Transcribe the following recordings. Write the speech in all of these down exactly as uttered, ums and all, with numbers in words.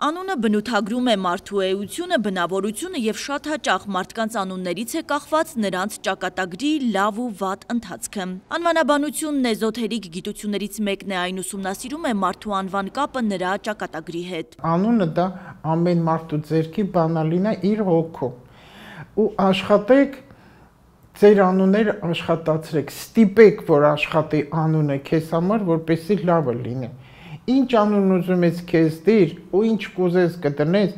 Անունը բնութագրում է մարդու էությունը, բնավորությունը եւ շատ հաճախ մարդկանց անուններից է կախված նրանց ճակատագրի լավ ու վատ ընթացքը։ Անվանաբանությունն էզոթերիկ գիտություններից մեկն է, այն ուսումնասիրում է մարդու անվան կապը նրա ճակատագրի հետ։ Անունը դա ամեն մարդու ձեռքի բանալին է իր հոգու։ Ու աշխատեք ձեր անունները աշխատացրեք, ստիպեք, որ աշխատի անունը քեզ համար, որպեսզի լավը լինի։ Ինչ անուն ուզում ես քեզ դիր ու ինչ կուզես կդնես,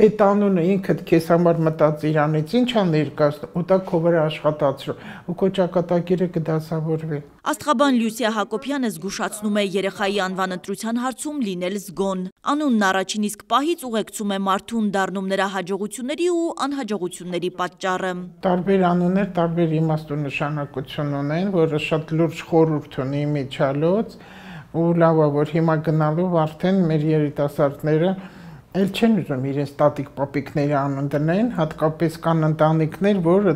այդ անունը ինքդ քեզ համար մտած իրանից ինչ ա ներկայացնում ու դա քո վրա աշխատացրու ու քո ճակատագիրը կդասավորվի։ Աստղաբան Լյուսիա Հակոբյանը զգուշացնում է երեխայի անվան ընտրության հարցում լինել զգոն։ Անունն առաջին իսկ պահից ուղեկցում է մարդուն, դառնում նրա հաջողությունների ու անհաջողությունների պատճառը։ Տարբեր անուններ տարբեր իմաստ ու նշանակություն ունեն, որը շատ լուրջ խորհուրդ ունի իմիջիալոց ու լավ է, որ հիմա գնալով արդեն մեր երիտասարդները էլ չեն ուզում իրենց տատիկ պապիկների անուն դնեն, հատկապես կան ընտանիքներ, որ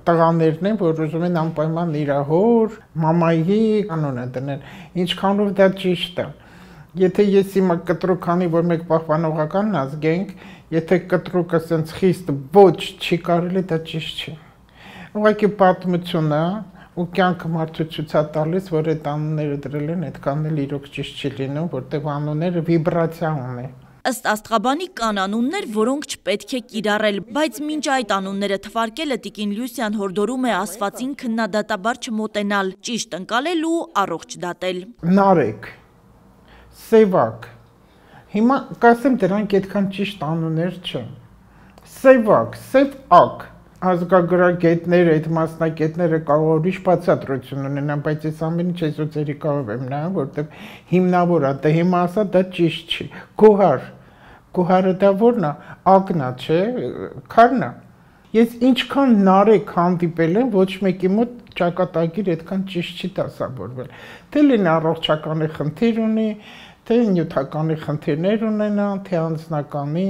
տղաներն են, որ ուզում են անպայման իր հոր, մամայի անունը դնել, ինչքանով դա ճիշտ է։ Եթե ես հիմա կտրուկ անի, որ մեկ պահպանողական ազգ ենք, եթե կտրուկը սենց խիստ ոչ չի կարելի, դա ճիշտ չի։ Ուղղակի պատմություն է ու կյանքը մարդու ցույց է տալիս, որ այդ անունները դրել են, այդքան էլ իրոք ճիշտ չի լինում, որտեղ անունները վիբրացիա ունեն։ Ըստ Աստղաբանի կան անուններ, որոնք չպետք է կիրառել, բայց մինչ այդ անունները թվարկելը տիկին Լյուսիան հորդորում է ասվածին քննադատաբար չմոտենալ, ճիշտ ընկալել ու առողջ դատել։ Նարեկ, Սևակ, հիմա կասեմ դրանք այդքան ճիշտ անուններ չեն։ Սևակ, Սևակ, ազգագրագետները, այդ մասնակետները կարող ուրիշ բացատրություն ունենան, բայց ես ամեն ինչ էզոտերիկայով եմ նայում, որտեղ հիմնավոր է, դա հիմա ասա դա ճիշտ չի։ Գոհար, Գոհարը դա որն է, ակնա, չէ, քարն է։ Ես ինչքան նարեկ հանդիպել եմ, ոչ մեկի մոտ ճակատագիր այդքան ճիշտ չի դասավորվել։ Թե լինի առողջականի խնդիր ունի, թե նյութականի խնդիրներ ունենա, թե անձնականի։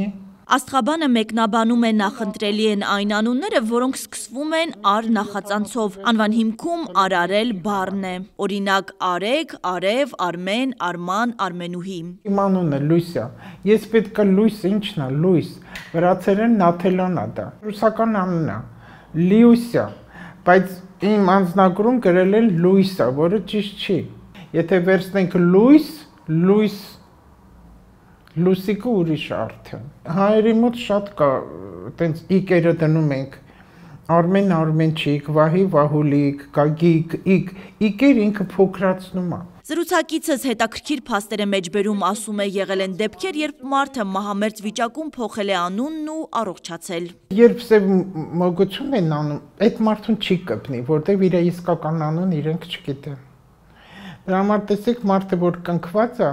Աստղաբանը մեկնաբանում է նախընտրելի են այն անունները, որոնք սկսվում են ար նախածանցով, անվան հիմքում արարել բառն է, օրինակ Արեգ, Արև, Արմեն, Արման, Արմենուհի։ Իմ անունը Լույսիա, ես պետք է լույս, ինչն է, լույս, վրացերեն Նաթելան է դա, ռուսական անուն է, Լիուսիա, բայց իմ անձնագրում գրել են Լույսա, որը ճիշտ չի, եթե վերցնենք լույս, լույս, լուսիկը ուրիշ արդեն։ Հայերի մոտ շատ կա, տենց իկերը դնում ենք, Արմեն Արմենչիկ, Վահի Վահուլիկ, Գագիկ, իկ, իկեր ինքը փոքրացնում է։ Զրուցակիցս հետաքրքիր փաստեր է մեջբերում, ասում է եղել են դեպքեր, երբ մարդը մահամերձ վիճակում փոխել է անունն ու առողջացել։ Երբ սև մոգություն են անում, այդ մարդուն չի կպնի, որտեղ իր իսկական անուն իրենք չգիտեն։ Դրա համար տեսեք մարդը, որ կնքված է,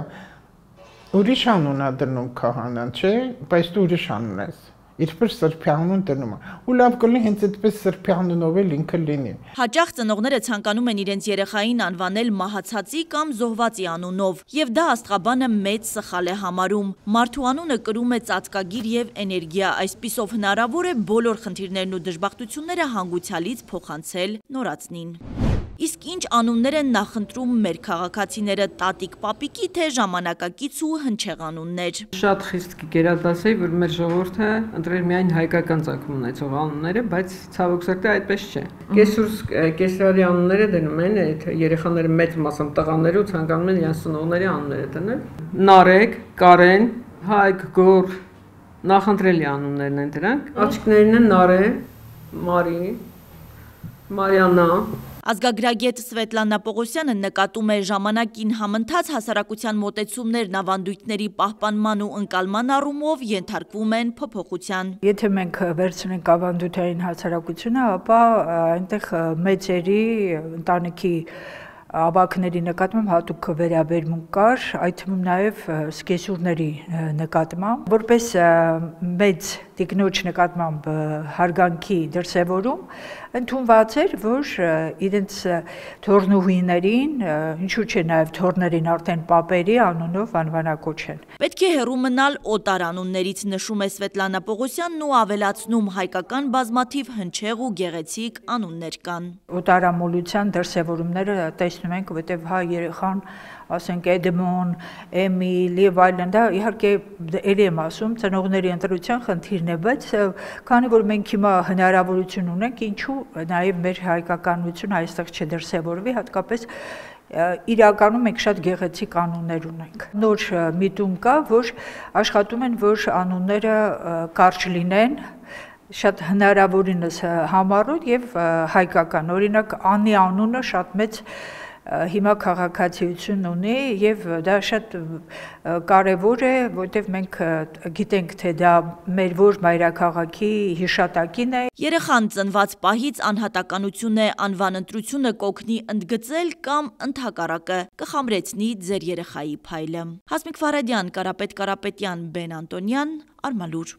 ուրիշ անուն է դնում քահանան, չէ, բայց դու ուրիշ անուն ես, իրպես սրբի անուն դնում է, ու լավ կլինի հենց այդպես սրբի անունով էլ ինքը լինի։ Հաճախ ծնողները ցանկանում են իրենց երեխային անվանել մահացածի կամ զոհվածի անունով, եւ դա Աստղաբանը մեծ սխալ է համարում։ Մարդու անունը կրում է ծածկագիր եւ էներգիա, այսպիսով հնարավոր է բոլոր խնդիրներն ու դժբախտությունները հանգուցյալից փոխանցել նորածնին։ Իսկ ինչ անուններ են նախընտրում մեր քաղաքացիները, տատիկ պապիկի թե ժամանակակից ու հնչեղ անուններ։ Շատ խիստ կերադասեի, որ մեր ժողովուրդը ընտրել միայն հայկական ծագում ունեցող անունները, բայց ցավոք սրտի այդպես չէ։ Կեսուր կեսարի անունները դնում են, այդ երեխաները մեծ մասամբ տղաները ու ցանկանում են իրենց ծնողների անունները դնել։ Նարեկ, Կարեն, Հայկ, Գոր, նախընտրելի անուններն են դրանք։ Աղջիկներն են Նարե, Մարի, Մարիանա։ Ազգագրագետ Սվետլանա Պողոսյանը նկատում է ժամանակին համընթաց հասարակության մոտեցումներն ավանդույթների պահպանման ու ընկալման առումով ենթարկվում են փոփոխության։ Եթե մենք վերցնենք ավանդույթային հասարակությունը, ապա այնտեղ մեծերի ընտանիքի ավագների նկատմամբ հատուկ վերաբերմունք կար, այդ թվում նաև սկեսուրների նկատմամբ, որպես մեծ տիկնոջ նկատմամբ հարգանքի դրսևորում ընդունված էր, որ իրենց թորնուհիներին, ինչու՞ չէ նաև թորներին արդեն պապերի անունով անվանակոչեն։ Պետք է հեռու մնալ օտար անուններից, նշում է Սվետլանա Պողոսյանն ու ավելացնում, հայկական բազմաթիվ հնչեղ ու գեղեցիկ անուններ կան։ Օտարամոլության դրսևորումները տեսնում տեսնում ենք, որտեղ հա երեխան, ասենք Էդմոն, Էմիլ եւ այլն, դա իհարկե ելի եմ ասում, ծնողների ընտրության խնդիրն է, բայց քանի որ մենք հիմա հնարավորություն ունենք, ինչու նաեւ մեր հայկականությունը այստեղ չդրսևորվի, հատկապես իրականում մենք շատ գեղեցիկ անուններ ունենք։ Նոր միտում կա, որ աշխատում են, որ անունները կարճ լինեն, շատ հնարավորինս համառոտ եւ հայկական։ Օրինակ Անի անունը շատ մեծ հիմա քաղաքացիություն ունի եւ դա շատ կարեւոր է, որտեղ մենք գիտենք, թե դա մեր որ մայրաքաղաքի հիշատակին է։ Երեխան ծնված պահից անհատականություն է, անվան ընտրությունը կօգնի ընդգծել կամ ընդհակառակը կխամրեցնի ձեր երեխայի փայլը։ Հասմիկ Ֆարադյան, Կարապետ Կարապետյան, Բեն Անտոնյան, Արմալուր։